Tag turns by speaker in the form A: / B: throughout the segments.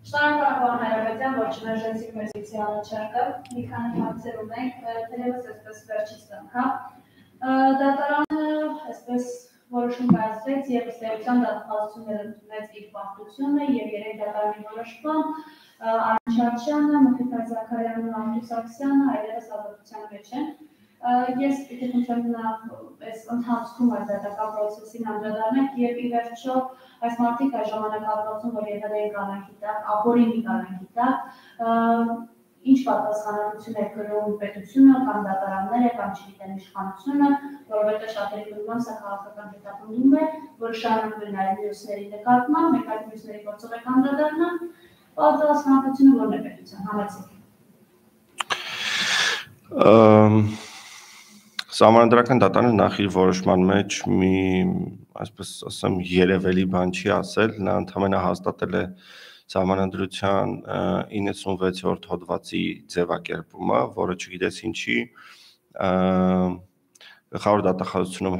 A: Շնորհակալ Հայրապետյան, որ չմերժեցիք մեր զրույցի առաջարկը, մի քանի հարցեր ունենք, թերևս այսպես վերջից անգամ։ Դատարանը այսպես որոշում կայացրեց եւ ըստ էության դատախազությունները ընդունեց իր պարտությունը եւ երեք դատարանի որոշմամբ Արմեն Չարչյանը, Մխիթար Զաքարյանն ու Անդրուս Սարգսյանը այլևս ազատության մեջ են։ Ես պիտի խնդրեմ այս ընթացքում այս դատական պրոցեսին անդրադառնանք եւ ի վերջո այս մարդիկ այս ժամանակահատվածում, որ եղել են կալանքի տակ, ապօրինի կալանքի տակ, ինչ պատասխանատվություն է կրում պետությունը կամ դատարանները կամ չգիտեմ իշխանությունը, որովհետեւ շատերի կողմից սա քաղաքական հետապնդում է, որը շարունակվում է նաեւ մյուսների նկատմամբ, մեկ այլ մյուսների գործող է անդրադառնալ, պատասխանատվությունը որն է պետության համեցեք։
B: Սահմանադրական դատարանը նախ իր որոշման մեջ մի, այսպես ասեմ, երևելի բան չի ասել, նա ընդհանրապես հաստատել է Սահմանադրության 96-րդ հոդվածի ձևակերպումը, որը չգիտես ինչի գլխավոր դատախազությունում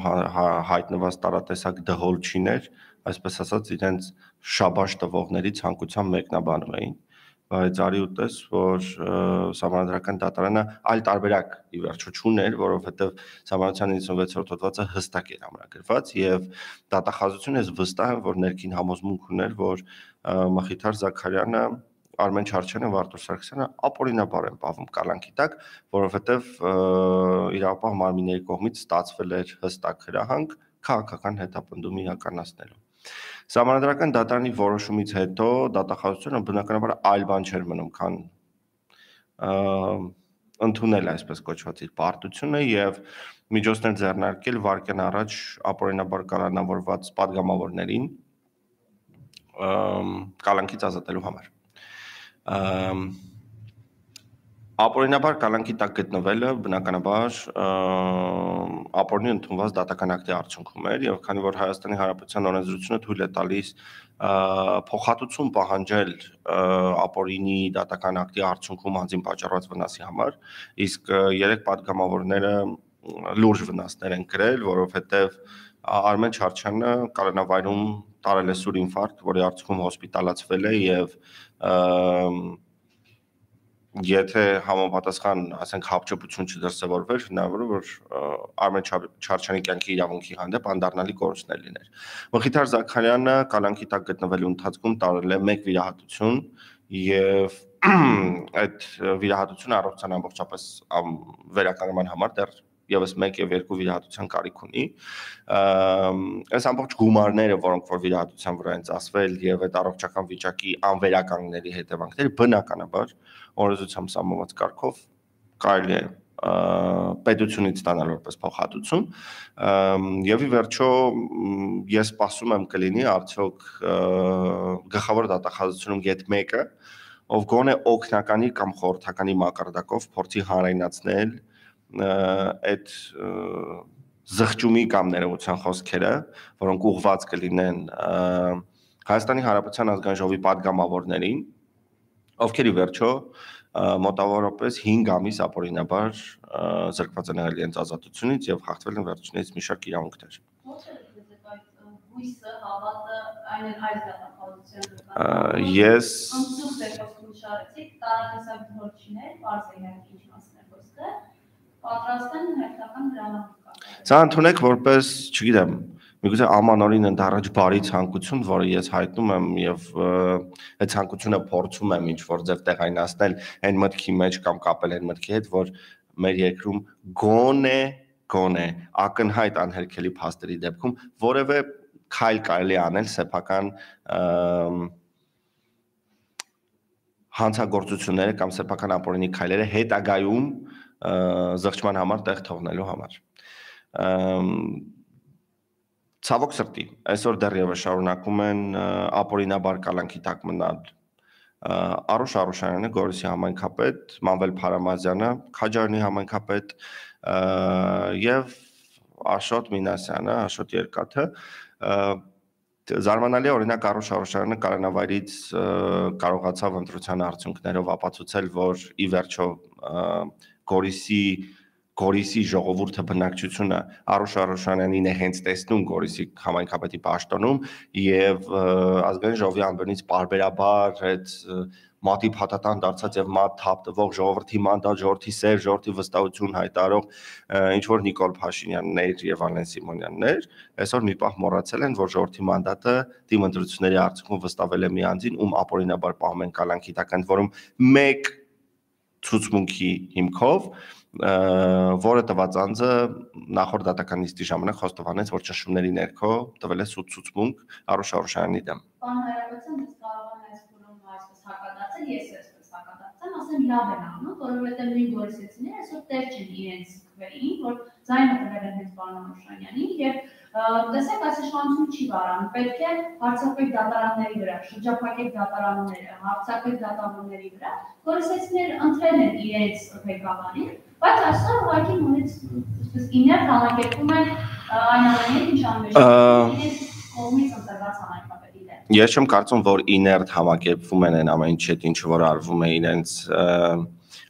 B: հայտնված տարատեսակ դհոլչիներ, այսպես ասած, իրենց շաբաշ տվողների ցանկությամբ մեկնաբանում էին, բայց արի ուտես, որ Սահմանադրական դատարանը այլ տարբերակ ի վերջո չուներ, որովհետև Սահմանադրության 96-րդ հոդվածը հստակ էր ամրագրված եւ դատախազությունը վստահ է, որ ներքին համոզմունք ուներ, որ Մխիթար Զաքարյանը, Արմեն Չարչյանը, Արտուր Սարգսյանը ապօրինաբար են պահվում կալանքի տակ, որովհետև իրավապահ մարմինների կողմից ստացվել էր հստակ հրահանգ քաղաքական հետապնդում իրականացնելու։ Սահմանադրական դատարանի որոշումից հետո դատախազությունը բնականաբար այլ բան չէր մնում, քան ընդունել այսպես կոչված իր պարտությունը եւ միջոցներ ձեռնարկել վարկյան առաջ ապօրինաբար կալանավորված падգամավորներին կալանքից ազատելու համար։ Ապօրինաբար կալանքի տակ գտնվելը բնականաբար ապօրինի ընդունված դատական ակտի արդյունքում էր եւ քանի որ Հայաստանի Հանրապետության օրենսդրությունը թույլ է տալիս փոխհատուցում պահանջել ապօրինի դատական ակտի արդյունքում անձին պատճառված վնասի համար, իսկ երեք падգամավորները լուրջ վնասներ են կրել, որովհետեւ Արմեն Չարչյանը կալանավայրում տարել է սուր ինֆարկտ, որի արդյունքում հոսպիտալացվել է եւ եթե համապատասխան, ասենք, հապճեպություն չդրսևորվեր, հնարավոր է, որ Արմեն Չարչյանի կյանքի իրավունքի հանդեպ անդառնալի կորուստներ լիներ։ Մխիթար Զաքարյանը կալանքի տակ գտնվելու ընթացքում տարել է 1 վիրահատություն եւ այդ վիրահատությունը առողջության ամբողջապես վերականգնման համար դեռ եւս 1 եւ 2 վիրահատության կարիք ունի։ Այս ամբողջ գումարները, որոնք որ վիրահատության վրա են ծախսվել եւ այդ առողջական վիճակի անվերականգնելի հետևանքները բնականաբար օրենսդրությամբ սահմանված կարգով կարելի է պետությունից ստանալ որպես փոխհատուցում եւ ի վերջո ես սպասում եմ կլինի արդյոք գլխավոր դատախազությունում գետ մեկը ով գոնե օգնականի կամ խորհրդականի մակարդակով փորձի հանրայնացնել այդ զղջումի կամ ներողության խոսքերը, որոնք ուղղված կլինեն Հայաստանի Հանրապետության ազգային ժողովի падգամավորներին, ովքեր ի վերջո մոտավորապես 5 ամիս ապօրինաբար զրկված են եղել իրենց ազատությունից եւ հաղթվել են վերջինիս մի շարք իրավունքներ։ Ես Սա ընդունեք որպես, չգիտեմ, միգուցե ամանորին ընդառաջ բարի ցանկություն, որը ես հայտնում եմ եւ այդ ցանկությունը փորձում եմ ինչ որ ձև տեղայնացնել այն մտքի մեջ կամ կապել այն մտքի հետ, որ մեր երկրում գոնե ակնհայտ անհերքելի փաստերի դեպքում որևէ քայլ կարելի անել սեփական հանցագործությունները կամ սեփական ապօրինի քայլերը հետագայում զղջման համար տեղ թողնելու համար։ Ցավոք սրտի, այսօր դեռևս շարունակում են ապօրինաբար կալանքի տակ մնալ Արուշ Արուշյանը, Գորիսի համայնքապետ, Մանվել Փարամազյանը, Քաջարյանի համայնքապետ եւ Աշոտ Մինասյանը, Աշոտ Երկաթը։ Զարմանալի է, օրինակ Արուշ Արուշյանը կալանավայրից կարողացավ ընտրության արդյունքներով ապացուցել, որ ի վերջո Գորիսի Գորիսի ժողովուրդը բնակչությունը Արուշ Արուշանյանին է հենց տեսնում Գորիսի համայնքապետի պաշտոնում եւ ազգային ժողովի ամբողջից բարբերաբար այդ մատի փաթաթան դարձած եւ մատ թափ տվող ժողովրդի մանդատ, ժողովրդի սեր, ժողովրդի վստահություն հայտարարող ինչ որ Նիկոլ Փաշինյաններ եւ Ալեն Սիմոնյաններ այսօր մի պահ մոռացել են, որ ժողովրդի մանդատը թիմ ընտրությունների արդյունքում վստահվել է մի անձին, ում ապօրինաբար պահում են կալանքի տակ, ընդ որում մեկ ցուցմունքի հիմքով որը տված անձը նախորդ դատական նիստի ժամանակ խոստովանեց, որ ճնշումների ներքո տվել է սուտ ցուցմունք Արուշ Արուշյանի դեմ։
A: Պարոն Հայրապետյան, ես կարող եմ այս բուրումը այսպես հակադարձել, ես այսպես հակադարձեմ, ասեմ լավ են անում, որովհետև նույն գորիսեցիները այսօր տեղ չեն իրենց քվեին, որ ձայնը տվել են հենց պարոն Արուշյանյանին եւ տեսեք, այս իշխանությունը չի վարանում, պետք է հարցակվեք դատարանների վրա, շրջափակեք դատարանները, հարցակվեք դատարանների վրա, գորիսեցիները ընտրել են իրենց ղեկավարին, բայց այսօր ուղղակի նույնիսկ իներ համակերպում են այն ամենին, ինչ անում են իրենց կողմից ընտրված համայնքապետի դեմ։
B: Ես չեմ կարծում, որ իներտ համակերպվում են այն ամեն ինչ, ինչ որ արվում է իրենց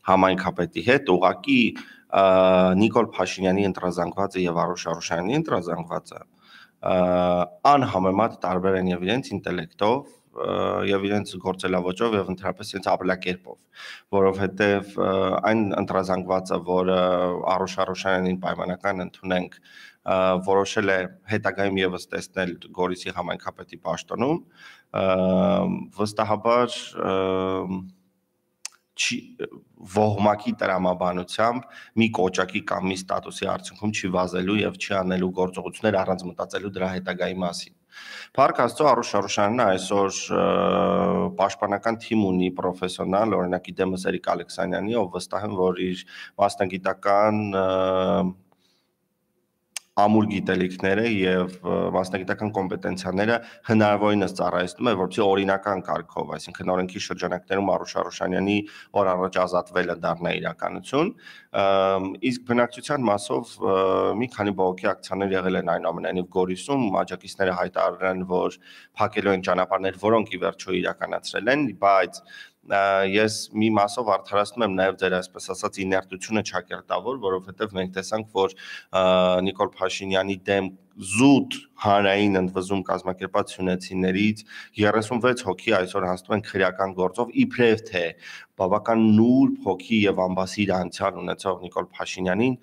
B: համայնքապետի հետ, ուղղակի Նիկոլ Փաշինյանի ընտրազանգվածը եւ Արուշ Արուշյանի ընտրազանգվածը անհամեմատ տարբեր են եւ իրենց ինտելեկտով եւ իրենց գործելավոճով եւ ընդհանրապես իրենց ապրելակերպով, որովհետեւ այն ընտրազանգվածը, որը Արուշ Արուշյանին պայմանական ընդունենք, որոշել է հետագայում եւս տեսնել Գորիսի համայնքապետի պաշտոնում, վստահաբար ոհմակի տրամաբանությամբ մի կոճակի կամ մի ստատուսի արդյունքում չի վազելու եւ չի անելու գործողություններ առանց մտածելու դրա հետագայի մասին։ Փառք Աստծո, Արուշ Արուշյանն այսօր պաշտպանական թիմ ունի պրոֆեսիոնալ, օրինակ Իդեմս Էրիկ Ալեքսանյանի, ով վստահ եմ, որ իր մասնագիտական ամուր գիտելիքները եւ մասնագիտական կոմպետենցիաները հնարավորինս ծառայեցնում է, որպեսզի օրինական կարգով, այսինքն օրենքի շրջանակներում Արուշ Արուշյանի օր առաջ ազատվելը դառնա իրականություն, իսկ բնակչության մասով մի քանի բողոքի ակցիաներ եղել են այնուամենայնիվ Գորիսում, աջակիցները հայտարարել են, որ փակելու են ճանապարհներ, որոնք ի վերջո իրականացրել են, բայց ես մի մասով արդարացնում եմ նաև ձեր այսպես ասած իներտությունը ճակերտավոր, որովհետև մենք տեսանք, որ Նիկոլ Փաշինյանի դեմ զուտ հանրային ընդվզում կազմակերպած հյունեցիներից 36 հոգի այսօր հանձնում են քրեական գործով, իբրև թե բավական նուրբ հոգի եւ ամբասիր անցյալ ունեցող Նիկոլ Փաշինյանին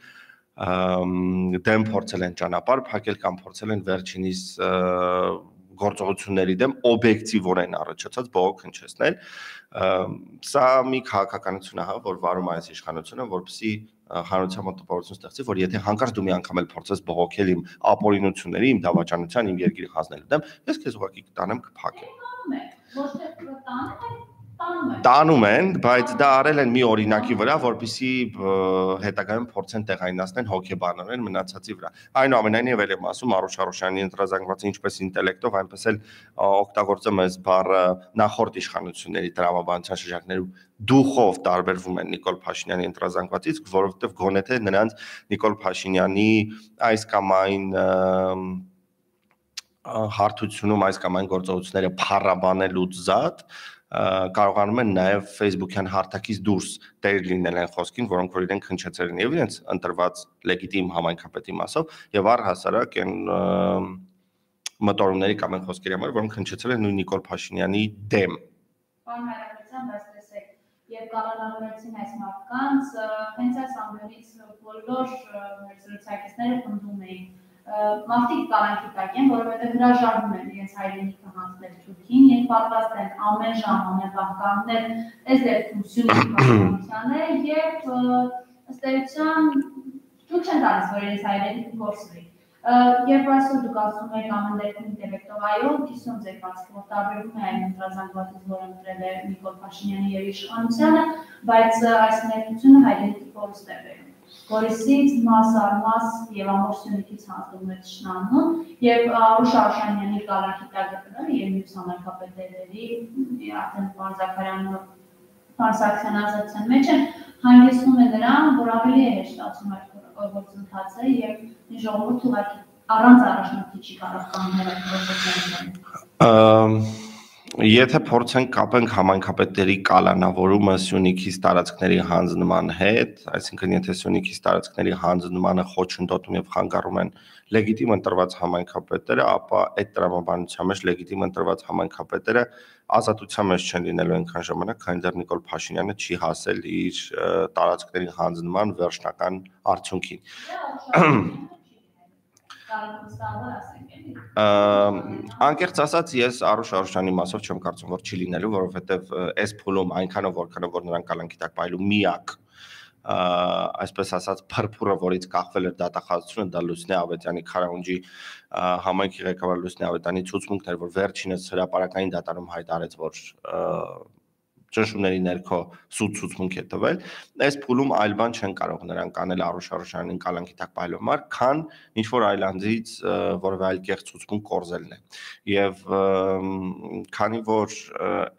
B: դեմ փորձել են ճանապարհ փակել կամ փորձել են վերջինիս գործողությունների դեմ օբյեկտիվորեն առաջացած բողոք հնչեցնել, սա մի քաղաքականություն է, որ վարում է այս իշխանությունը, որպեսզի հանրության մոտ տպավորություն ստեղծի, որ եթե հանկարծ դու մի անգամ էլ փորձես բողոքել իմ ապօրինությունների, իմ դավաճանության, իմ երկրի խազնելու դեմ, ես քեզ ուղղակի կտանեմ կփակեմ։ Տանում են, բայց դա արել են մի օրինակի վրա, որպեսզի հետագայում փորձեն տեղայնացնել հոգեբանորեն մնացածի վրա։ Այնուամենայնիվ էլ եմ ասում, Արուշ Արուշյանի ընտրազանգվածը ինչպես ինտելեկտով, այնպես էլ օգտագործում ես բառը նախորդ իշխանությունների տրամաբանության շրջանակներում դուխով տարբերվում են Նիկոլ Փաշինյանի ընտրազանգվածից, որովհետև գոնե թե նրանց Նիկոլ Փաշինյանի այս կամ այն հարթությունում այս կամ այն գործողությունները փառաբանելուց զատ կարողանում են նաև Facebook-յան հարթակից դուրս տեր լինել այն խոսքին, որոնք որ իրենք հնչեցել են եւ իրենց ընտրված լեգիտիմ համայնքապետի մասով եւ առհասարակ այն մտորումների կամ այն խոսքերի համար, որոնք հնչեցել են նույն Նիկոլ Փաշինյանի դեմ։
A: Պարոն Հայրապետյան, բայց տեսեք, եւ կառավարեցին այս մարդկանց, հենց այս ամենից բոլոր մեր զրուցակիցները պնդում էին մարդիկ կալանքի տակ են, որովհետև հրաժարվում են իրենց հայրենիքը հանձնել Թուրքին, եւ պատրաստ են ամեն ժամ ամեն պահ կանգնել այս դեպքում Սյունիքի քաղաքացիները եւ ըստ էության թույլ չեն տալիս, որ իրենց հայրենիքը կորսվի։ Երբ այսօր դուք ասում եք ամեն դեպքում ինտելեկտով, այո, կիսում ձեր բացքը, որ տարբերվում է այն ընտրազանգվածից, որ ընտրել է Նիկոլ Փաշինյանը եւ իշխանությունը, բայց այս ներկայությունը հայրենիքի կորուստ է բերում։ Գորիսից մաս առ մաս եւ ամբողջ Սյունիքից հանձնում է ճշնամուն եւ Արուշ Արուշյանի կալանքի տակ գտնելը եւ մյուս համայնքապետերի արդեն պարոն Զաքարյանը Փարսակցյան ազատության մեջ են հանգեցնում է նրան, որ ավելի է հեշտացում այդ գործընթացը եւ ժողովուրդը ուղղակի առանց առաջնորդի չի կարող կանգնել այդ գործընթացին։
B: Եթե փորձենք կապենք համայնքապետերի կալանավորումը Սյունիքից տարածքների հանձնման հետ, այսինքն եթե Սյունիքից տարածքների հանձնմանը խոչընդոտում եւ խանգարում են լեգիտիմ ընտրված համայնքապետերը, ապա այդ տրամաբանության մեջ լեգիտիմ ընտրված համայնքապետերը ազատության մեջ չեն լինելու այնքան ժամանակ, քանի դեռ Նիկոլ Փաշինյանը չի հասել իր տարածքների հանձնման վերջնական արդյունքին։ Անկեղծ ասած ես Արուշ Արուշյանի մասով չեմ կարծում, որ չի լինելու, որովհետև այս փուլում այնքանով որքանով որ նրան կալանքի տակ պայելու միակ այսպես ասած փրփուրը, որից կախվել էր դատախազությունը, դա Լուսնե Ավետյանի Քարաունջի համայնքի ղեկավար Լուսնե Ավետյանի ցուցմունքն էր, որ վերջինս հրապարակային դատարանում հայտարարեց, որ ճնշումների ներքո սուտ ցուցմունք է տվել, այս փուլում այլ բան չեն կարող նրանք անել Արուշ Արուշյանին կալանքի տակ պայելու համար, քան ինչ որ այլ անձից որևէ այլ կեղծ ցուցմունք կորզելն է։ Եվ քանի որ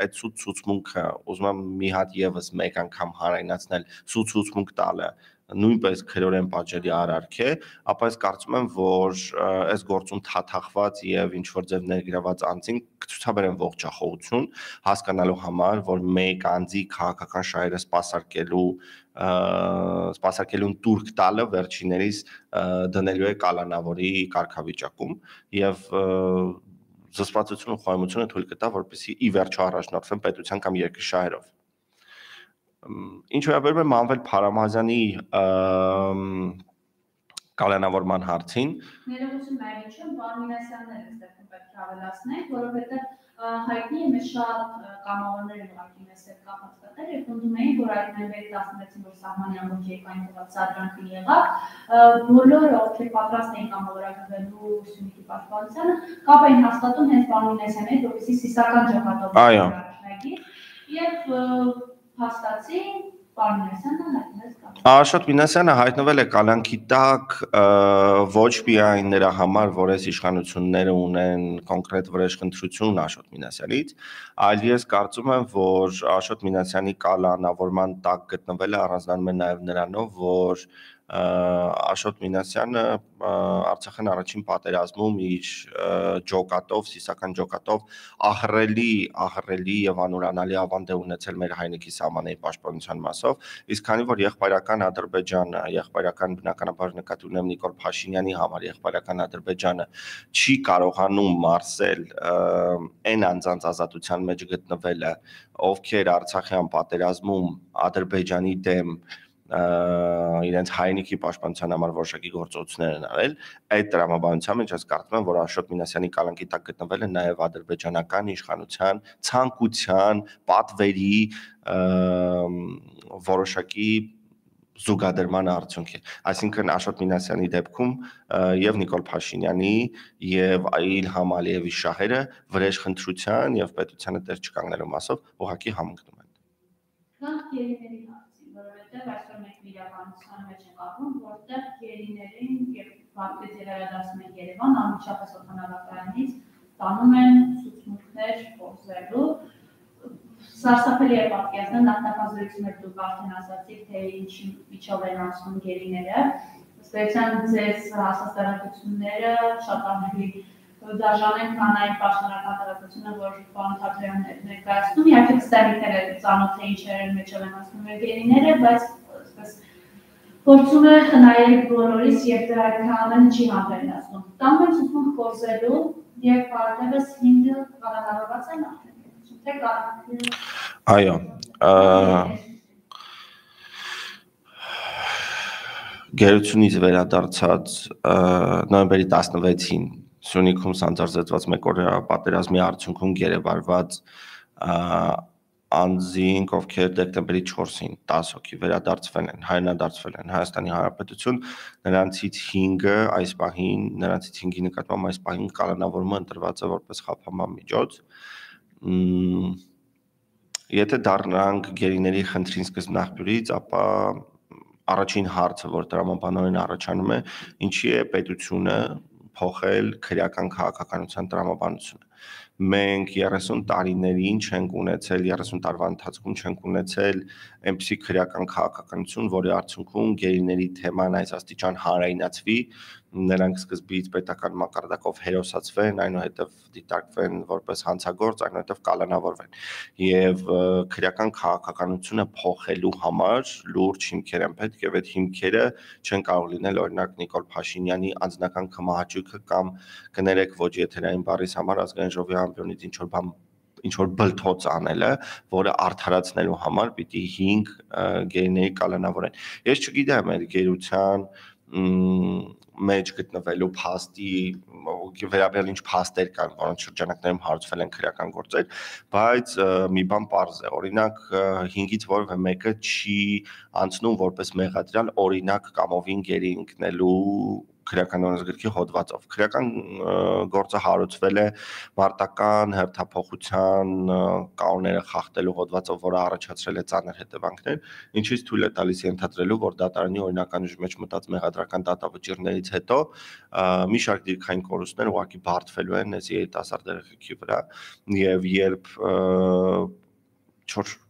B: այդ սուտ ցուցմունքը ուզում եմ մի հատ եւս մեկ անգամ հարայնացնել, սուտ ցուցմունք տալը նույնպես քրորեն պատժելի արարք է, ապա ես կարծում եմ, որ այս գործում թաթախված եւ ինչ որ ձև ներգրաված անձին կցուցաբերեն ողջախոհություն, հասկանալու համար, որ մեկ անձի քաղաքական շահերը սպասարկելուն տուրք տալը վերջիներիս դնելու է կալանավորի կարգավիճակում եւ զսպվածությունը ու խոհեմությունը թույլ կտա, որպեսզի ի վերջո առաջնորդվեն պետության կամ երկրի շահերով։ Ինչ վերաբերում է Մանվել Փարամազյանի կալանավորման հարցին,
A: ներողություն այլիչը պարոն Մինասյանն է այստեղ պետք է ավելացնենք, որովհետև հայտնի է մեծ շատ կամավորներ ուղղակի մեզ հետ կապված կտել եւ ընդունում էին, որ այդ նոյեմբերի 16-ին որ սահմանի ամբողջ երկայն ծադրանքը եղավ, բոլորը ովքեր պատրաստ էին կամավորագրվելու Սյունիքի պաշտպանությանը, կապ էին հաստատում հենց պարոն Մինասյանի հետ, որպեսզի սիսական ջոկատով առաջնագի եւ հաստատի պարոն Մինասյանը հայտնվեց կապ։
B: Աշոտ Մինասյանը հայտնվել է կալանքի տակ ոչ միայն նրա համար, որ այս իշխանությունները ունեն կոնկրետ վրեժխնդրություն Աշոտ Մինասյանից, այլ ես կարծում եմ, որ Աշոտ Մինասյանի կալանավորման տակ գտնվելը առանձնանում է նաև նրանով, որ Աշոտ Մինասյանը Արցախյան առաջին պատերազմում իր ջոկատով, սիսական ջոկատով ահռելի եւ անուրանալի ավանդ է ունեցել մեր հայնիկի սահմանների պաշտպանության մասով, իսկ քանի որ եղբայրական Ադրբեջանը, եղբայրական բնականաբար նկատի ունեմ Նիկոլ Փաշինյանի համար, եղբայրական Ադրբեջանը չի կարողանում մարսել այն անձանց ազատության մեջ գտնվելը, ովքեր Արցախյան պատերազմում Ադրբեջանի դեմ իրենց հայնիկի պաշտպանության համար որոշակի գործողություններ են արել, այդ տրամաբանության մեջ ես կարծում եմ, որ Աշոտ Մինասյանի կալանքի տակ գտնվելը նաև ադրբեջանական իշխանության ցանկության, պատվերի որոշակի զուգադրման արդյունք է։ Այսինքն Աշոտ Մինասյանի դեպքում եւ Նիկոլ Փաշինյանի եւ Իլհամ Ալիևի շահերը վրեժխնդրության եւ պետությանը դեր չկանգնելու մասով ուղղակի համընկնում են։
A: Քանք երիների հարցին, որովհետեւ այսօր մենք իրականության մեջ ենք ապրում, որտեղ երիներին եւ վարկետ վերադասում են Երևան, անմիջապես օդանավակայանից տանում են ցուցմունքներ կորզելու։ Սարսափելի է պատկերացնել նախնական դուք արդեն ասացիք, թե ինչի միջով են անցնում գերիները, ըստ էության ձեզ հասած տեղեկությունները շատ ավելի դաժան են, քան այն պաշտոնական տեղեկությունը, որ պարոն Թաթերյանն է ներկայացնում, իհարկե ստեղիքները ծանոթ է ինչեր միջով են անցնում գերիները, բայց այսպես փորձում է խնայել բոլորիս եւ դա այդքան չի համբերնացնում։ Տանում են ցուցմունք կորզելու եւ պարզապես 5 կալանավորված են արդեն։
B: Այո, գերությունից վերադարձած նոյեմբերի 16-ին Սյունիքում սանձարձեցված մեկօրյա պատերազմի արդյունքում գերեվարված անձինք, ովքեր դեկտեմբերի 4-ին 10 հոգի վերադարձվել են, հայրենադարձվել են Հայաստանի Հանրապետություն, նրանցից 5-ը այս պահին, նրանցից 5-ի նկատմամբ այս պահին կալանավորումը ընտրված է որպես խափանման միջոց։ Եթե դառնանք գերիների խնդրին սկզբնաղբյուրից, ապա առաջին հարցը, որ տրամաբանորեն առաջանում է, ինչի է պետությունը փոխել քրեական քաղաքականության տրամաբանությունը։ Մենք 30 տարիներին չենք ունեցել, 30 տարվա ընթացքում չենք ունեցել այնպիսի քրեական քաղաքականություն, որի արդյունքում գերիների թեման այս աստիճան հանրայնացվի, նրանք սկզբից պետական մակարդակով հերոսացվեն, այնուհետև դիտարկվեն որպես հանցագործ, այնուհետև կալանավորվեն։ Եվ քրեական քաղաքականությունը փոխելու համար լուրջ հիմքեր են պետք, եւ այդ հիմքերը չեն կարող լինել օրինակ Նիկոլ Փաշինյանի անձնական կմահաճույքը կամ կներեք ոչ եթերային բառից համար ազգային ժողովի ամբիոնից ինչ որ բլթոց անելը, որը արդարացնելու համար պիտի 5 գերիների կալանավորեն։ Ես չգիտեմ այդ գերության մեջ գտնվելու փաստի վերաբերյալ ինչ փաստեր կան, որոնց շրջանակներում հարուցվել են քրեական գործեր, բայց մի բան պարզ է, օրինակ 5-ից որևէ մեկը չի անցնում որպես մեղադրյալ օրինակ կամովին գերի ընկնելու քրեական օրենսգրքի հոդվածով։ Քրեական գործը հարուցվել է մարտական հերթափոխության կանոնները խախտելու հոդվածով, որը առաջացրել է ծանր հետևանքներ, ինչից թույլ է տալիս ենթադրելու, որ դատարանի օրինական ուժի մեջ մտած մեղադրական դատավճիռներից հետո մի շարք դիրքային կորուստներ ուղղակի բարդվելու են այս երիտասարդ երեխեքի վրա, եւ երբ 4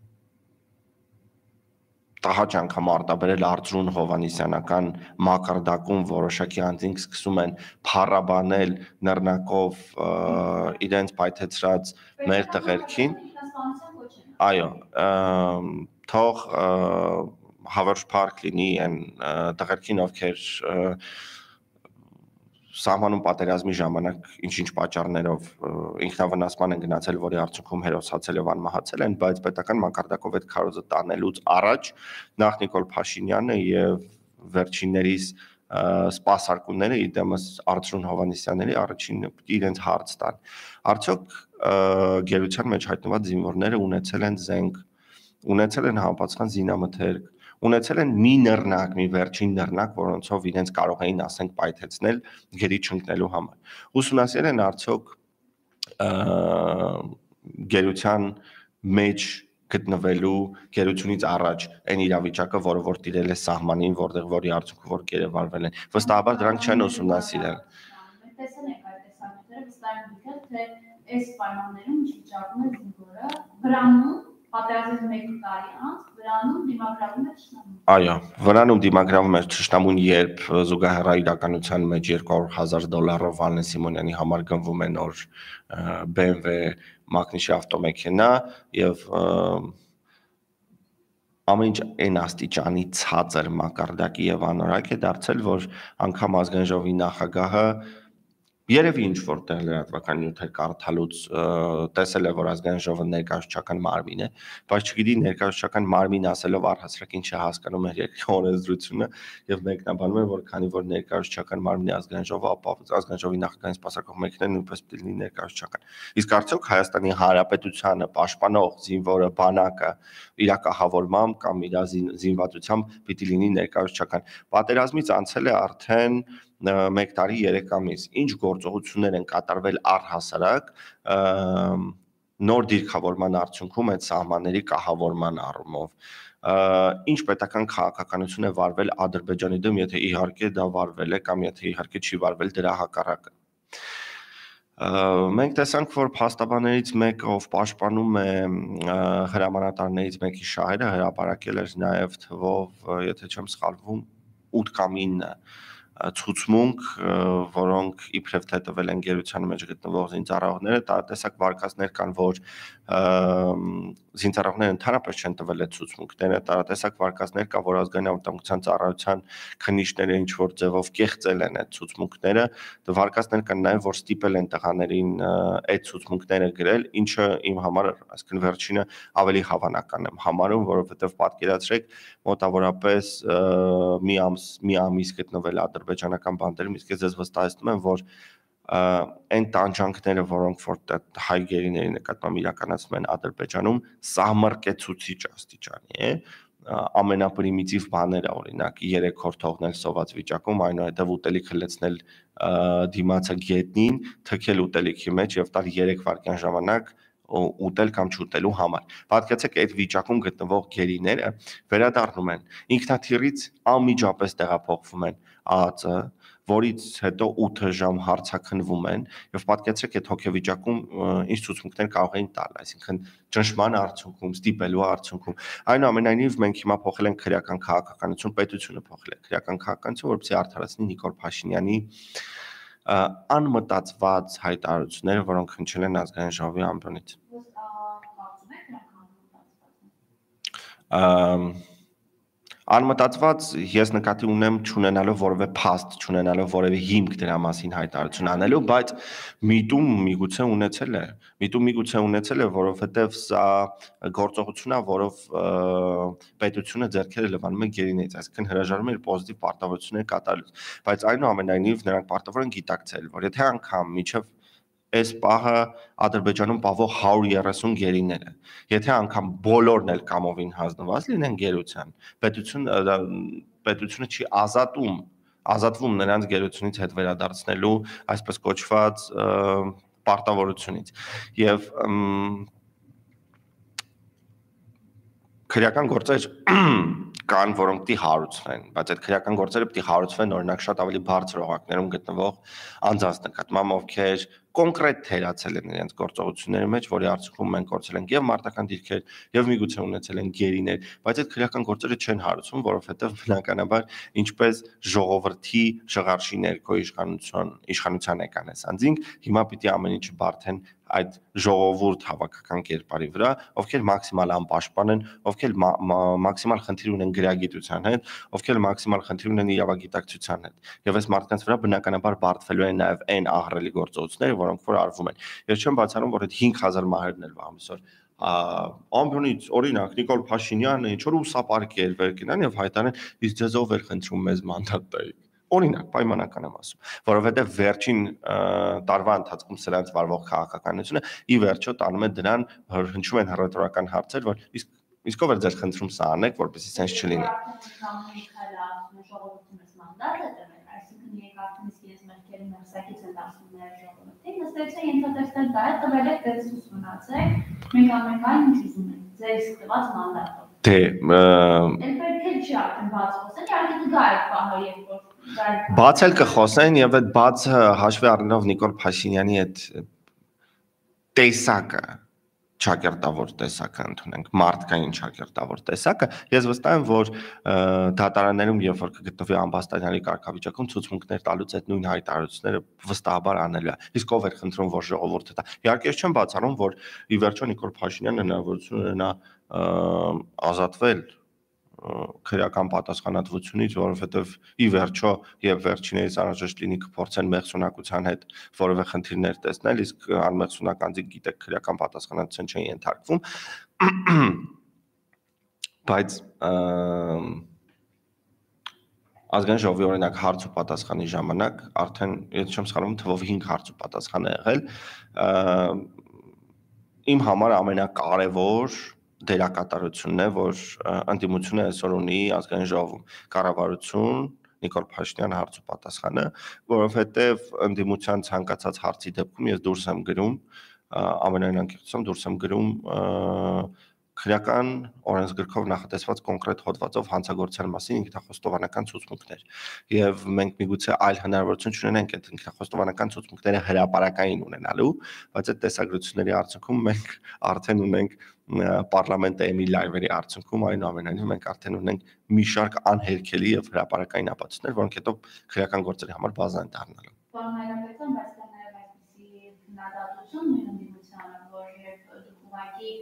B: տհաճ անգամ արտաբերել Արծրուն Հովանիսյանական մակարդակում որոշակի անձինք սկսում են փառաբանել նռնակով իրենց պայթեցրած մեր տղերքին, այո, թող հավերժ փառք լինի այն տղերքին, ովքեր սահմանում պատերազմի ժամանակ ինչ-ինչ պատճառներով ինքնավնասման են գնացել, որի արդյունքում հերոսացել եւ անմահացել են, բայց պետական մակարդակով այդ քարոզը տանելուց առաջ նախ Նիկոլ Փաշինյանը եւ վերջիններիս սպասարկումները իդեմս Արծրուն Հովանիսյանների առաջինը իրենց հարց տան։ Արդյոք գերության մեջ հայտնված զինվորները ունեցել են զենք, ունեցել են համապատասխան զինամթերք, ունեցել են մի նռնակ, մի վերջին նռնակ, որոնցով իրենց կարող էին, ասենք, պայթեցնել գերի չընկնելու համար։ Ուսումնասիրել են արդյոք գերության մեջ գտնվելու գերությունից առաջ այն իրավիճակը, որը որ տիրել է սահմանին, որտեղ որի արդյունքում որ գերեվարվել են։ Վստահաբար դրանք չեն ուսումնասիրել։
A: Տեսան եք այդ տեսակետները, վստահ եմ, թե այս պայմաններում ինչ վիճակում է զինվորը, վրանում պատերազմից 1 տարի անց վրանում դիմագրավում է թշնամուն։
B: Այո, վրանում դիմագրավում է թշնամուն, երբ զուգահեռ իրականության մեջ $200,000 Վալեն Սիմոնյանի համար գնվում է նոր BMW մակնիշի ավտոմեքենա եւ ամեն ինչ այն աստիճանի ցածր մակարդակի եւ անորակ է դարձել, որ անգամ ազգային ժողովի նախագահը երևի ինչ որտեղ լրատվական նյութեր կարդալուց տեսել է, որ ազգային ժողովը ներկայացուցչական մարմին է, բայց չգիտի ներկայացուցչական մարմին ասելով առհասարակ ինչ է հասկանում է երկրի օրենսդրությունը եւ մեկնաբանում է, որ քանի որ ներկայացուցչական մարմինի ազգային ժողովը, ապա ազգային ժողովի նախագահին սպասարկող մեքենան նույնպես պիտի լինի ներկայացուցչական։ Իսկ արդյոք Հայաստանի Հանրապետությանը պաշտպանող զինվորը, բանակը իրակահավորմամբ կամ իր զինվածությամբ պիտի լինի ներկայացուցչական։ Պատերազմից անցել է արդեն 1 տարի 3 ամիս, ինչ գործողություններ են կատարվել առհասարակ նոր դիրքավորման արդյունքում այդ սահմանների կահավորման առումով, ինչ պետական քաղաքականություն է վարվել Ադրբեջանի դեմ, եթե իհարկե դա վարվել է կամ եթե իհարկե չի վարվել դրա հակառակը։ Մենք տեսանք, որ փաստաբաններից մեկը, ով պաշտպանում է հրամանատարներից մեկի շահերը, հրապարակել էր նաև թվով, եթե չեմ սխալվում, 8 կամ 9 ցուցմունք, որոնք իբրև թե տվել են գերության մեջ գտնվող զինծառայողները, տարատեսակ վարկածներ կան, որ զինծառայողները ընդհանրապես չեն տվել այդ ցուցմունքները, տարատեսակ վարկածներ կա, որ ազգային անվտանգության ծառայության քննիչները ինչ որ ձևով կեղծել են այդ ցուցմունքները, վարկածներ կան նաև, որ ստիպել են տղաներին այդ ցուցմունքները գրել, ինչը իմ համար, այսինքն վերջինը ավելի հավանական եմ համարում, որովհետև պատկերացրեք մոտավորապես մի ամիս գտնվել ադրբեջանական բանտերում, իսկ ես վստահեցնում եմ, որ այն տանջանքները, որոնք որ հայ գերիների նկատմամբ իրականացնում են Ադրբեջանում, սահմռկեցուցիչ աստիճանի է, ամենապրիմիտիվ բաները, օրինակ 3 օր թողնել սոված վիճակում, այնուհետև ուտելիքը լցնել դիմացը գետնին, թքել ուտելիքի մեջ եւ տալ 3 վայրկյան ժամանակ ուտել կամ չուտելու համար։ Պատկերացեք այդ վիճակում գտնվող գերիները վերադառնում են ինքնաթիռից անմիջապես տեղափոխվում են ԱԱԾ, որից հետո 8 ժամ հարցաքննվում են եւ պատկերացրեք այդ հոգեվիճակում ինչ ցուցմունքներ կարող էին տալ, այսինքն ճնշման արդյունքում, ստիպելու արդյունքում։ Այնուամենայնիվ մենք հիմա փոխել ենք քրեական քաղաքականություն, պետությունը փոխել է քրեական քաղաքականություն, որպեսզի արդարացնի Նիկոլ Փաշինյանի անմտածված հայտարարությունները, որոնք հնչել են ազգային ժողովի ամբիոնից։ Անմտածված ես նկատի ունեմ չունենալով որևէ փաստ, չունենալով որևէ հիմք դրա մասին հայտարարություն անելու, բայց միտում միգուցե ունեցել է, որովհետև սա գործողություն է, որով պետությունը ձեռքերը լվանում է գերիներից, այսինքն հրաժարվում է իր պոզիտիվ պարտավորություններ կատարելուց, բայց այնուամենայնիվ նրանք պարտավոր են գիտակցել, որ եթե անգամ միջև այս պահը Ադրբեջանում պահվող 130 գերիները, եթե անգամ բոլորն էլ կամովին հանձնված լինեն գերության, պետությունը չի ազատվում նրանց գերությունից հետ վերադարձնելու այսպես կոչված պարտավորությունից եւ քրեական գործեր կան, որոնք պիտի հարուցվեն, բայց այդ քրեական գործերը պիտի հարուցվեն օրինակ շատ ավելի բարձր օղակներում գտնվող անձանց նկատմամբ, ովքեր կոնկրետ թերացել են իրենց գործողությունների մեջ, որի արդյունքում մենք կորցրել ենք եւ մարտական դիրքեր, եւ միգուցե ունեցել են գերիներ, բայց այդ քրեական գործերը չեն հարուցվում, որովհետեւ բնականաբար ինչպես ժողովրդի շղարշի ներքո իշխանության եկան այս անձինք, հիմա պիտի ամեն ինչ բարթեն այդ ժողովուրդ հավաքական կերպարի վրա, ովքեր մաքսիմալ անպաշտպան են, ովքեր մաքսիմալ խնդիր ունեն գրագիտության հետ, ովքեր մաքսիմալ խնդիր ունեն իրավագիտակցության հետ։ Եվ այս մարդկանց վրա բնականաբար բարդվելու են նաև այն ահռելի գործողությունները, որոնք որ արվում են։ Ես չեմ բացառում, որ այդ 5000 մահերն էլ ամիսօր ամբյոնից օրինակ Նիկոլ Փաշինյանը ինչ որ ուսապարկեր վեր կենան եւ հայտարարեն, իսկ ձեզ ով էր խնդրում մեզ մանդատ տայիք։ Օրինակ, պայմանական եմ ասում, որովհետև վերջին տարվա ընթացքում սրանց վարվող քաղաքականությունը ի վերջո տանում է դրան, հնչում են հռետորական հարցեր, որ իսկ ով է ձեր խնդրում սա անեք, որպեսզի սենց չլինի։ Բացել կխոսեն եւ այդ բացը հաշվի առնելով Նիկոլ Փաշինյանի այդ տեսակը ճակերտավոր տեսակը ընդունենք, մարդկային ճակերտավոր տեսակը, ես վստահ եմ, որ դատարաններում երբ որ կգտնվի ամբաստանյալի կարգավիճակում ցուցմունքներ տալուց այդ նույն հայտարարությունները վստահաբար անելու է։ Իսկ ով էր խնդրում, որ ժողովուրդը տա։ Իհարկե ես չեմ բացառում, որ ի վերջո Նիկոլ Փաշինյանը հնարավորություն ունենա ազատվել քրեական պատասխանատվությունից, որովհետև ի վերջո եւ վերջիներից անհրաժեշտ լինի կփորձեն մեղսունակության հետ որևէ խնդիրներ տեսնել, իսկ անմեղսունակ անձիկ գիտեք քրեական պատասխանատվության չեն ենթարկվում, բայց ազգային ժողովի օրինակ հարց ու պատասխանի ժամանակ արդեն եթե չեմ սխալվում թվով 5 հարց ու պատասխան է եղել, իմ համար ամենակարևոր դերակատարությունն է, որ ընդդիմությունը այսօր ունի ազգային ժողովում կառավարություն Նիկոլ Փաշինյան հարց ու պատասխանը, որովհետև ընդդիմության ցանկացած հարցի դեպքում ես դուրս եմ գրում ամենայն անկեղծությամբ դուրս եմ գրում քրեական օրենսգրքով նախատեսված կոնկրետ հոդվածով հանցագործության մասին ինքնախոստովանական ցուցմունքներ եւ մենք միգուցե այլ հնարավորություն չունենենք այդ ինքնախոստովանական ցուցմունքները հրապարակային ունենալու, բայց այդ տեսագրությունների արդյունքում մենք արդեն ունենք պարլամենտի լայվերի արդյունքում այնուամենայնիվ մենք արդեն ունենք մի շարք անհերքելի եւ հրապարակային ապացույցներ, որոնք հետո քրեական գործերի համար բազա են դառնալու։
A: Պարոն Հայրապետյան, բայց դա նաեւ այսպիսի քննադատություն ընդդիմությանը, որ երբ ուղղակի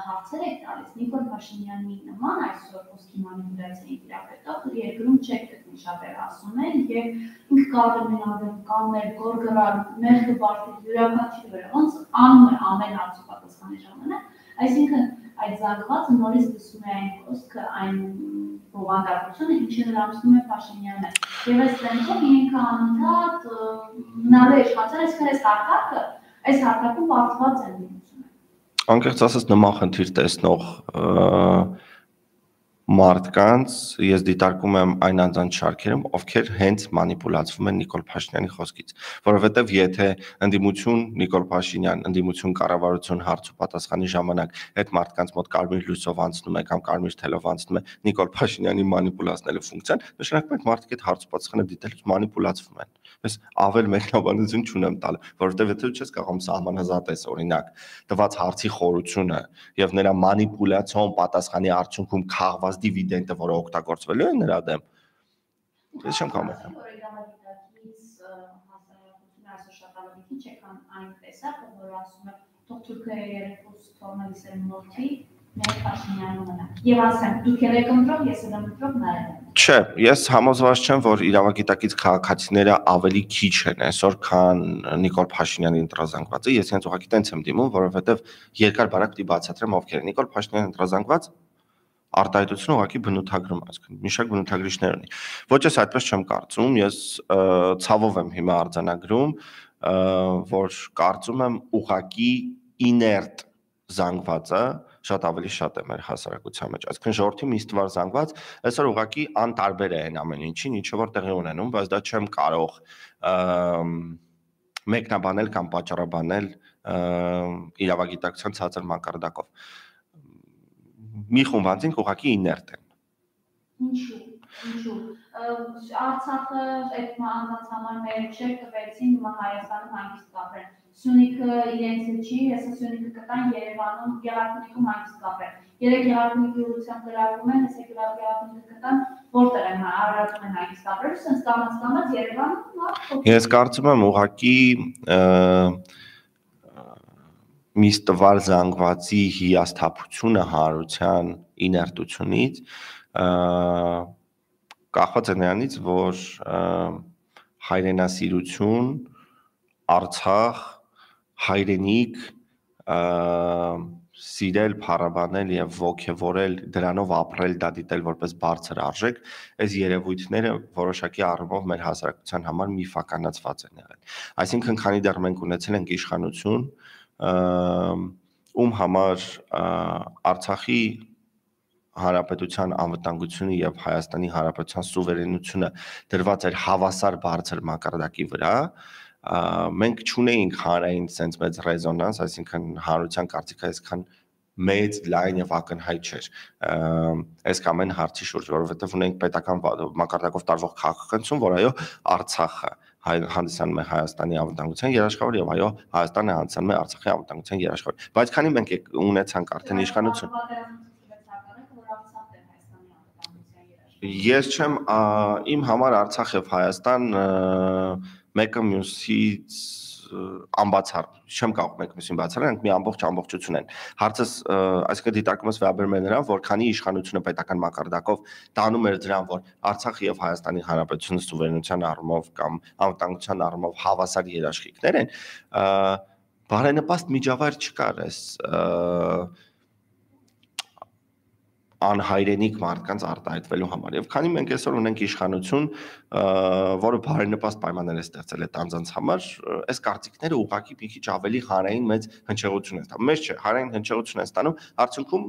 A: հարցեր եք տալիս Նիկոլ Փաշինյանի նման այսօր խոսքի մանիպուլյացիայի տիրապետող երկրում չեք գտնի շատերը ասում են եւ ինքը կարող է մենալու կամեր գորգրալ մեղքը բարդի յուրաքանչյուրի վրա ոնց անում է ամեն հարցի պատասխանի ժամանակ, այսինքն այդ զանգվածը նորից դասում է այն խոսքը, այն բովանդակությունը, ինչը հրամցնում է Փաշինյանը։ Եվ այս տենքով ինքը անընդհատ հնարավոր է իշխանության այս հարթակում բարդված են դիմությունը։
B: Անկեղծ ասած նման խնդիր տեսնող մարդկանց ես դիտարկում եմ այն անձանց շարքերում, ովքեր հենց մանիպուլացվում են Նիկոլ Փաշինյանի խոսքից, որովհետև եթե ընդդիմություն Նիկոլ Փաշինյան, ընդդիմություն կառավարություն հարց ու պատասխանի ժամանակ այդ մարդկանց մոտ կարմիր լույսով անցնում է կամ կարմիր թելով անցնում է Նիկոլ Փաշինյանի մանիպուլացնելու ֆունկցիան, նշանակում է մարդիկ այդ հարց ու պատասխանը դիտելուց մանիպուլացվում են։ Ես ավել մեկնաբանություն չունեմ տալ, որովհետև եթե չես կարող սահմանազատես օրինակ տված հարցի խորությունը եւ նրա մանիպուլյացիոն պատասխանի արդյունքում քաղված դիվիդենդը, որը օգտագործվելու է նրա դեմ, ես չեմ կարող մեկնաբանել։
A: Եվ ասեմ, դուք եք ընտրող, ես եմ ընտրող նայել։
B: Չէ, ես համոզված չեմ, որ իրավագիտակից քաղաքացիները ավելի քիչ են այսօր, քան Նիկոլ Փաշինյանի ընտրազանգվածը։ Ես հենց ուղղակի տենց եմ դիմում, որովհետև երկար բարակ պիտի բացատրեմ ովքեր են։ Նիկոլ Փաշինյանը ընտրազանգված արտահայտությունը ուղղակի բնութագրում է, այսինքն մի շարք բնութագրիչներ ունի։ Ոչ ես այդպես չեմ կարծում, ես ցավով եմ հիմա արձանագրում, որ կարծում եմ ուղղակի իներտ զանգվածը շատ ավելի շատ է մեր հասարակության մեջ։ Այսինքն ժողովրդի մի ստվար զանգված այսօր ուղղակի անտարբեր է այն ամեն ինչին, ինչը որ տեղի ունենում, բայց դա չեմ կարող մեկնաբանել կամ պատճառաբանել իրավագիտակցության ցածր մակարդակով։ Մի խումբ անձինք ուղղակի իներտ են։
A: Ինչու։ Արցախը այդ անձանց համար մեր չէ կվեցին հիմա Հայաստանում հանգիստ կապրեն։ Սյունիքը իրենց չի, հեսա Սյունիքը կտան Երևանում, Գեղարքունիքում հանգիստ կապրեն։ Երեք Գեղարքունիքի ուղղությամբ գրավում են, հեսա Գեղարքունիքը կտան որտեղ են հարարացում են հանգիստ կապրել, սենց կամաց Երևանում։
B: Ես կարծում եմ ուղղակի մի ստվար զանգվածի հիասթափությունը հանրության իներտությունից կախված է նրանից, որ հայրենասիրություն, Արցախ, հայրենիք սիրել, փառաբանել եւ ոգևորել, դրանով ապրել, դա դիտել որպես բարձր արժեք, այս երևույթները որոշակի առումով մեր հասարակության համար միֆականացված են եղել։ Այսինքն, քանի դեռ մենք ունեցել ենք իշխանություն, ում համար Արցախի Հանրապետության անվտանգությունը եւ Հայաստանի Հանրապետության սուվերենությունը դրված էր հավասար բարձր մակարդակի վրա, մենք չունեինք հանրային sense մեծ ռեզոնանս, այսինքն հանրության կարծիքը այսքան մեծ, լայն եւ ակնհայտ չէր այս կամ այն հարցի շուրջ, որովհետեւ ունենք պետական մակարդակով տարվող քաղաքականություն, որ այո, Արցախը հանդիսանում է Հայաստանի անվտանգության երաշխավոր եւ այո, Հայաստանը հանդիսանում է Արցախի անվտանգության երաշխավոր։ Բայց քանի մենք ունեցանք արդեն իշխանություն, ես չեմ իմ համար Արցախ եւ Հայաստան մեկը մյուսից անբացառ, չեմ կարող մեկը մյուսին բացառել, նրանք մի ամբողջություն են։ Հարցս, այսինքն դիտարկում ես վերաբերում է նրան, որ քանի իշխանությունը պետական մակարդակով տանում էր դրան, որ Արցախը եւ Հայաստանի Հանրապետությունը սուվերենության առումով կամ անվտանգության առումով հավասար երաշխիքներ են, բարենպաստ միջավայր չկար այս անհայրենիք մարդկանց արտահայտվելու համար։ Եվ քանի մենք այսօր ունենք իշխանություն, որը բարենպաստ պայմաններ է ստեղծել այդ անձանց համար, այս կարծիքները ուղղակի մի քիչ ավելի հանրային մեծ հնչեղություն են ստանում։ Մեծ չէ, հանրային հնչեղություն են ստանում, արդյունքում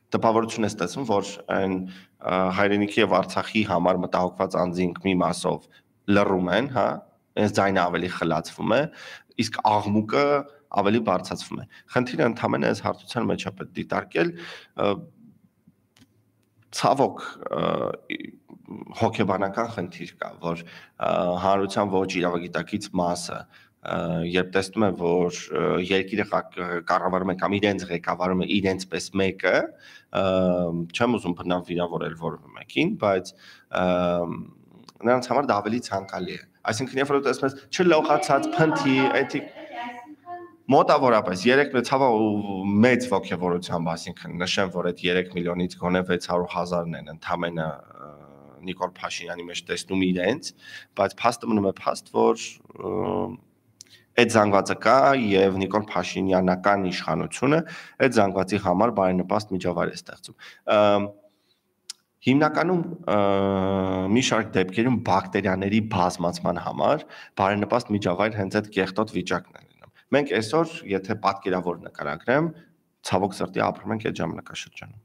B: տպավորություն է ստացվում, որ այն հայրենիքի եւ Արցախի համար մտահոգված անձինք մի մասով լռում են, հա, այս ձայնը ավելի խլացվում է, իսկ աղմուկը ավելի բարձրացվում է։ Խնդիրը ընդհանրապես այս հարթության մեջ է պետք դիտարկել, ցավոք հոգեբանական խնդիր կա, որ հանրության ոչ իրավագիտակից մասը երբ տեսնում է, որ երկիրը կառավարում է կամ իրենց ղեկավարում է իրենց պես մեկը, չեմ ուզում բնավ վիրավորել որևէ մեկին, բայց նրանց համար դա ավելի ցանկալի է։ Այսինքն, երբ որ տեսնում ես չլողացած փնթի, էթիկ մոտավորապես 3 ցավը մեծ ոգևորությամբ, այսինքն նշեմ, որ այդ 3 միլիոնից գոնե 600,000-ն են ընդամենը Նիկոլ Փաշինյանի մեջ տեսնում իրենց, բայց փաստը մնում է փաստ, որ այդ զանգվածը կա եւ Նիկոլ Փաշինյանական իշխանությունը այդ զանգվածի համար բարենպաստ միջավայր է ստեղծում։ Հիմնականում մի շարք դեպքերում բակտերիաների բազմացման համար բարենպաստ միջավայր հենց այդ կեղտոտ վիճակն է լինում։ Մենք այսօր, եթե պատկերավոր նկարագրեմ, ցավոք սրտի ապրում ենք այդ ժամանակաշրջանում։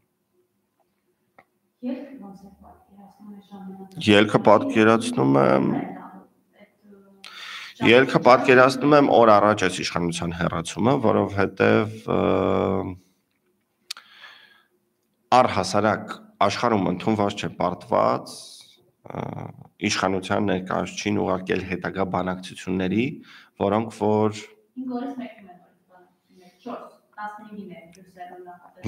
B: Ելքը պատկերացնում եմ օր առաջ այս իշխանության հեռացումը, որովհետև առհասարակ աշխարհում ընդունված չէ պարտված իշխանության ներկայացուցիչին ուղարկել հետագա բանակցությունների, որոնք որ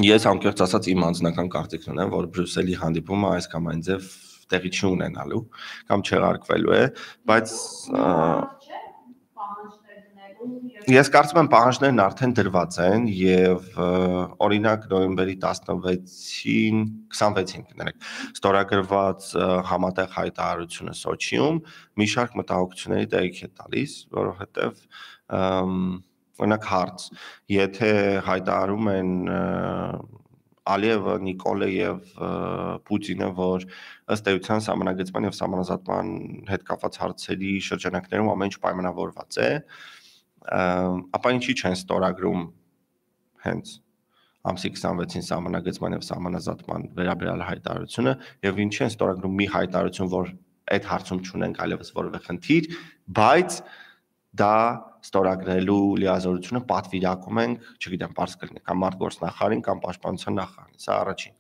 B: Ես անկեղծ ասած իմ անձնական կարծիքն ունեմ, որ Բրյուսելի հանդիպումը այս կամ այն ձև տեղի չի ունենալու կամ չեղարկվելու է, բայց Ես կարծում եմ պահանջներն արդեն դրված են եւ օրինակ նոյեմբերի 26-ին, 26-ին կներեք, ստորագրված համատեղ հայտարարությունը Սոչիում մի շարք մտահոգությունների տեղիք է տալիս, որովհետեւ օրինակ հարց, եթե հայտարարում են Ալիևը, Նիկոլը եւ Պուտինը, որ ըստ էության սահմանագծման եւ սահմանազատման հետ կապված հարցերի շրջանակներում ամեն ինչ պայմանավորված է, ապա ինչի չեն ստորագրում հենց ամսի 26-ին սահմանագծման եւ սահմանազատման վերաբերյալ հայտարարությունը եւ ինչի են ստորագրում մի հայտարարություն, որ այդ հարցում չունենք այլևս որևէ խնդիր, բայց դա ստորագրելու լիազորությունը պատվիրակում ենք, չգիտեմ, բարձ կլինի կամ մարդգործնախարարին կամ պաշտպանության նախարարին, սա առաջին։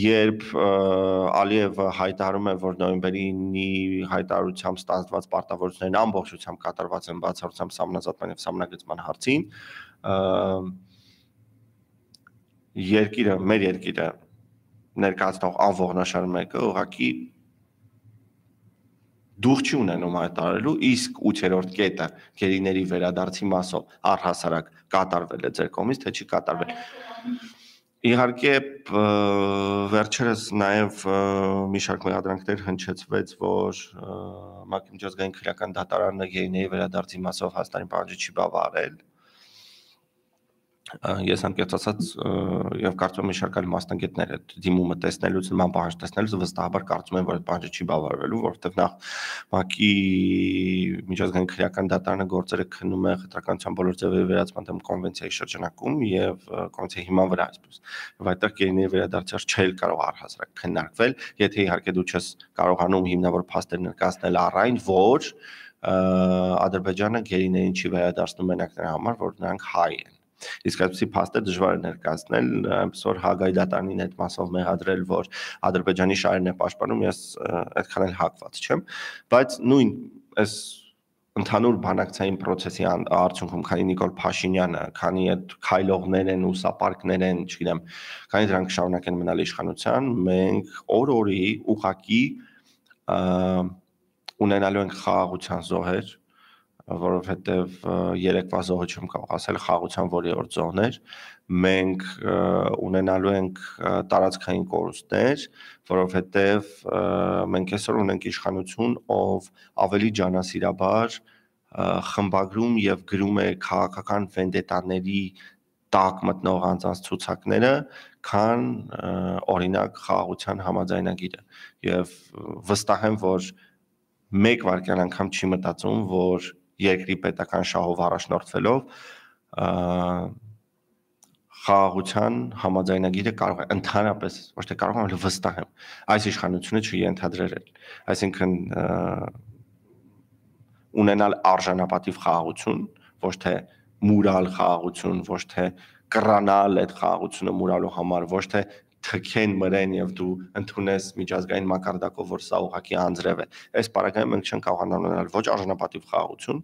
B: Երբ Ալիևը հայտարարում է, որ նոյեմբերի 9-ի հայտարարությամբ ստանձնված պարտավորություններն ամբողջությամբ կատարված են բացառությամբ սահմանազատման եւ սահմանագծման հարցին, մեր երկիրը ներկայացնող անողնաշար մեկը ուղղակի դուխ չի ունենում հայտարարելու, իսկ 8-րդ կետը գերիների վերադարձի մասով առհասարակ կատարվել է ձեր կողմից, թե չի կատարվել։ Իհարկե վերջերս նաև մի շարք մեղադրանքներ հնչեցվեց, որ ՄԱԿ-ի միջազգային քրեական դատարանը գերիների վերադարձի մասով Հայաստանի պահանջը չի բավարարել։ Ես անկեղծ ասած եւ կարծում եմ մի շարք այլ մասնագետներ այդ դիմումը տեսնելուց, նման պահանջ տեսնելուց վստահաբար կարծում են, որ այդ պահանջը չի բավարարվելու, որովհետեւ նախ ՄԱԿ-ի միջազգային քրեական դատարանը գործերը քննում է խտրականության բոլոր ձևերի վերացման դեմ կոնվենցիայի շրջանակում եւ կոնվենցիայի հիման վրա այսպես։ Եվ այդտեղ գերիների վերադարձը չէր կարող առհասարակ քննարկվել, եթե իհարկե դու չես կարողանում հիմնավոր փաստեր ներկայացնել առ այն, որ Ադրբեջանը գերիներին չի վերադարձնում մենակ նրա համար, որ նրանք հայ են։ Իսկ այդպիսի փաստեր դժվար է ներկայացնել, այնպես որ Հագայի դատարանին այդ մասով մեղադրել, որ Ադրբեջանի շահերն է պաշտպանում, ես այդքան էլ հակված չեմ, բայց նույն այս ընդհանուր բանակցային process-ի արդյունքում, քանի Նիկոլ Փաշինյանը, քանի այդ քայլողներ են, ուսապարկներ են, չգիտեմ, քանի դրանք շարունակեն մնալ իշխանության, մենք օր-օրի ուղղակի ունենալու ենք խաղաղության զոհեր, որովհետև երեկվա զոհը չեմ կարող ասել, խաղաղության որևէ զոհներ, մենք ունենալու ենք տարածքային կորուստներ, որովհետև մենք այսօր ունենք իշխանություն, ով ավելի ջանասիրաբար խմբագրում եւ գրում է քաղաքական վենդետաների տակ մտնող անձանց ցուցակները, քան օրինակ խաղաղության համաձայնագիրը եւ վստահ եմ, որ մեկ վայրկյան անգամ չի մտածում, որ երկրի պետական շահով առաջնորդվելով խաղաղության համաձայնագիրը կարող է ընդհանրապես, ոչ թե կարող եմ, այլ վստահ եմ, այս իշխանությունը չենթադրել։ Այսինքն ունենալ արժանապատիվ խաղաղություն, ոչ թե մուրալ խաղաղություն, ոչ թե կռանալ այդ խաղաղությունը մուրալու համար, ոչ թե թքեն մրեն եւ դու ընդունես միջազգային մակարդակով, որ սա ուղղակի անձրև է։ Այս պարագայում մենք չենք կարողանալ ունենալ ոչ արժանապատիվ խաղաղություն,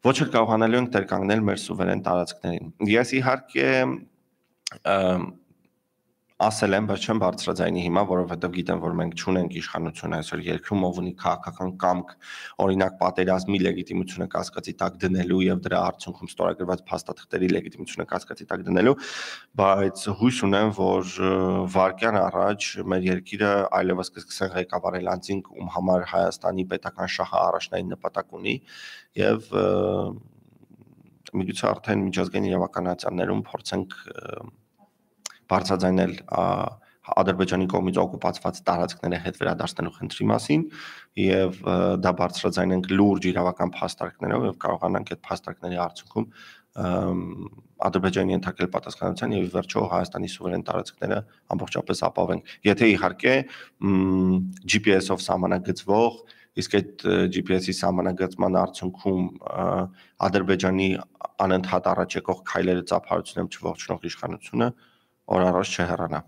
B: ոչ էլ կարողանալու ենք տեր կանգնել մեր սուվերեն տարածքներին։ Ես իհարկե ասել եմ, բայց չեմ բարձրաձայնի հիմա, որովհետև գիտեմ, որ մենք չունենք իշխանություն այսօր երկրում, ով ունի քաղաքական կամք, օրինակ պատերազմի լեգիտիմությունը կասկածի տակ դնելու եւ դրա արդյունքում ստորագրված փաստաթղթերի լեգիտիմությունը կասկածի տակ դնելու, բայց հույս ունեմ, որ վարկյան առաջ մեր երկիրը այլևս կսկսեն ղեկավարել անձինք, ում համար Հայաստանի պետական շահը առաջնային նպատակ ունի եւ միգուցե արդեն միջազգային իրավականացաններում փորձենք բարձրաձայնել Ադրբեջանի կողմից օկուպացված տարածքները հետ վերադարձնելու խնդրի մասին եւ դա բարձրաձայնենք լուրջ իրավական փաստարկներով եւ կարողանանք այդ փաստարկների արդյունքում Ադրբեջանի ենթարկել պատասխանատվության եւ ի վերջո Հայաստանի սուվերեն տարածքները ամբողջապես ապավենք։ Եթե իհարկե GPS-ով սահմանագծվող, իսկ այդ GPS-ի սահմանագծման արդյունքում Ադրբեջանի անընդհատ առաջ եկող քայլերը ծափարությունում չողջունող իշխանությունը օր առաջ չհեռանա։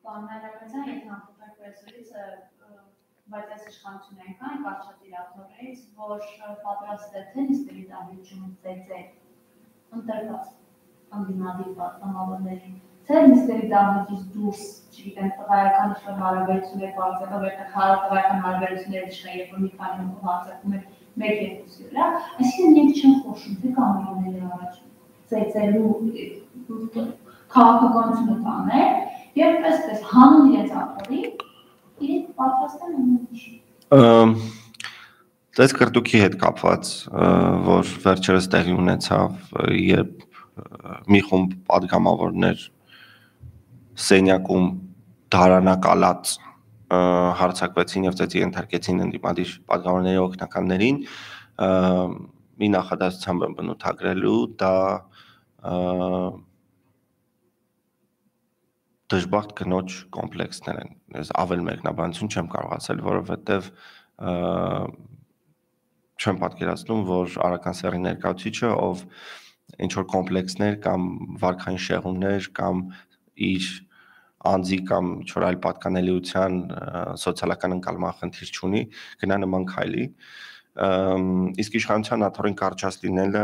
A: Պարոն եթե համապատասխան պրեսից բայց այս իշխանությունը այնքան կարճատիրատորից, որ պատրաստ է թե նիստերի դահլիճում ծեծել ընտրված անդինադիր պատգամավորներին, թե նիստերի դահլիճից դուրս, չգիտեմ, տղայական ինչ-որ հարաբերություններ բարձրացնել, տղայական հարաբերությունները չկան, երբ որ մի քանի բարձրացում է 1-2-ի վրա, այսինքն մենք չենք խոշում, թե կամերաների առաջ ծեծելու քաղաքականությունը տանել, եւ այսպես հանուն իրենց ապօրի իրենք պատրաստ են ամեն ինչ։
B: Դες կրտուքի հետ կապված, որ վերջերս տեղի ունեցավ, երբ մի խումբ պատգամավորներ սենյակում դարանակալած հարցակվեցին եւ ծեծի ենթարկեցին ընդդիմադիր պատգամավորների օգնականներին, մի նախադասությամբ եմ բնութագրելու, դա դժբախտ կնոջ կոմպլեքսներ են։ Ես ավել մեկնաբանություն չեմ կարող ասել, որովհետեւ չեմ պատկերացնում, որ Արաքան Սեռի ներկայացուցիչը, ով ինչ որ կոմպլեքսներ կամ վարքային շեղումներ կամ իր անձի կամ ինչ որ այլ պատկանելիության սոցիալական ընկալման խնդիր չունի, գնա նման քայլի։ Իսկ իշխանության աթոռին կարճած լինելը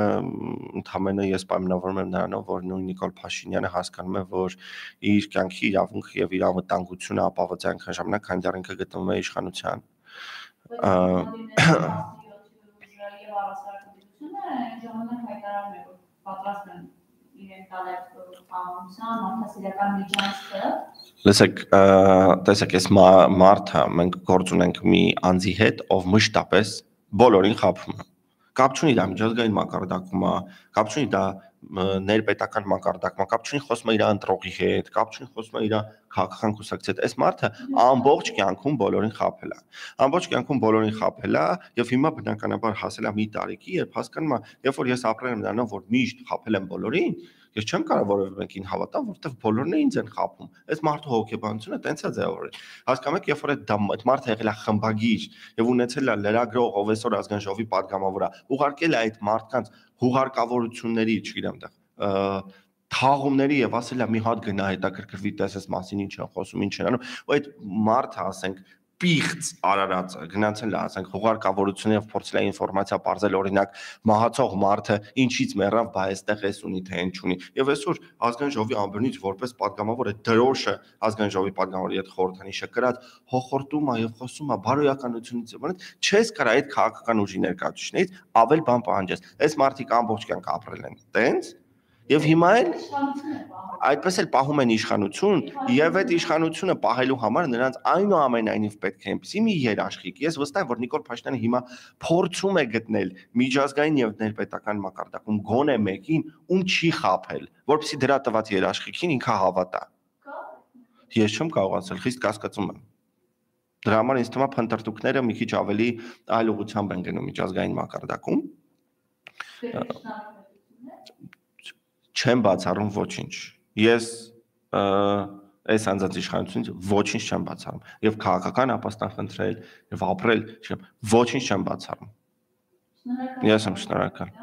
B: ընդհանրապես ես պայմանավորում եմ նրանով, որ նույն Նիկոլ Փաշինյանը հասկանում է, որ իր կյանքի իրավունքը եւ իր անվտանգությունը ապահովված է այնքան ժամանակ, քանի դեռ ինքը գտնվում է իշխանության։
A: Ժամանակ հայտարարում է, որ պատրաստ են իրեն տալ պահանջության, մարդասիրական միջանցքը։
B: Լսեք, տեսեք, այս մարդը մենք գործ ունենք մի անձի հետ, ով մշտապես բոլորին խաբում է։ Կապ չունի դա միջազգային մակարդակում է, կապ չունի դա ներպետական մակարդակում է, կապ չունի խոսում է իր ընտրողի հետ, կապ չունի խոսում է իր քաղաքական կուսակցի հետ։ Այս մարդը ամբողջ կյանքում բոլորին խաբել է։ Ամբողջ կյանքում բոլորին խաբել է եւ հիմա բնականաբար հասել է մի տարիքի, երբ հասկանում է, երբ որ ես ապրել եմ նրանով, որ միշտ խաբել եմ բոլորին, ես չեմ կարող որևէ մեկին հավատալ, որովհետեւ բոլորն ինձ են խաբում։ Այս մարդու հոգեբանությունը տենց է ձևավորել։ Հասկանում եք, երբ որ այդ մարդը եղել է խմբագիր եւ ունեցել է լրագրող, ով այսօր ազգային ժողովի падգամավոր է, ուղարկել է այդ մարդկանց հուղարկավորությունների, չգիտեմ, թաղումների եւ ասել է մի հատ գնա հետաքրքրվի տեսես մասին ինչ են խոսում, ինչ են անում, ու այդ մարդը, ասենք, պիղծ արարածը գնացել է, ասենք, հուղարկավորությունով փորձել է ինֆորմացիա բարձել, օրինակ, մահացող մարդը ինչից մեռավ, բա այստեղ էս ունի թե ինչ ունի։ Եվ այսօր ազգային ժողովի ամբրնից որպես падգամավոր է դրոշը ազգային ժողովի падգամավորի հետ խորհրդանիշը կրած հոխորտում է եւ խոսում է բարոյականությունից, որոնց չես կարա այդ քաղաքական ուժի ներկայացուցիչներից ավել բան պահանջես։ Այս մարդիկ ամբողջ կյանք ապրել են տենց եւ հիմա էլ այդպես էլ պահում են իշխանություն եւ այդ իշխանությունը պահելու համար նրանց այնուամենայնիվ պետք է այնպեսի մի երաշխիք։ Ես վստահ եմ, որ Նիկոլ Փաշինյանը հիմա փորձում է գտնել միջազգային եւ ներպետական մակարդակում գոնե մեկին, ում չի խաբել, որպեսզի դրա տված երաշխիքին ինքը հավատա։ Ես չեմ կարող ասել, խիստ կասկածում եմ։ Դրա համար ինձ թվում է փնտրտուքները մի քիչ ավելի այլ ուղղությամբ են գնում միջազգային մակարդակում։ Չեմ բացառում ոչինչ։ Ես այս անձանց իշխանությունից ոչինչ չեմ բացառում եւ քաղաքական ապաստան խնդրել եւ ապրել, ոչինչ չեմ բացառում։ Ես եմ շնորհակալ։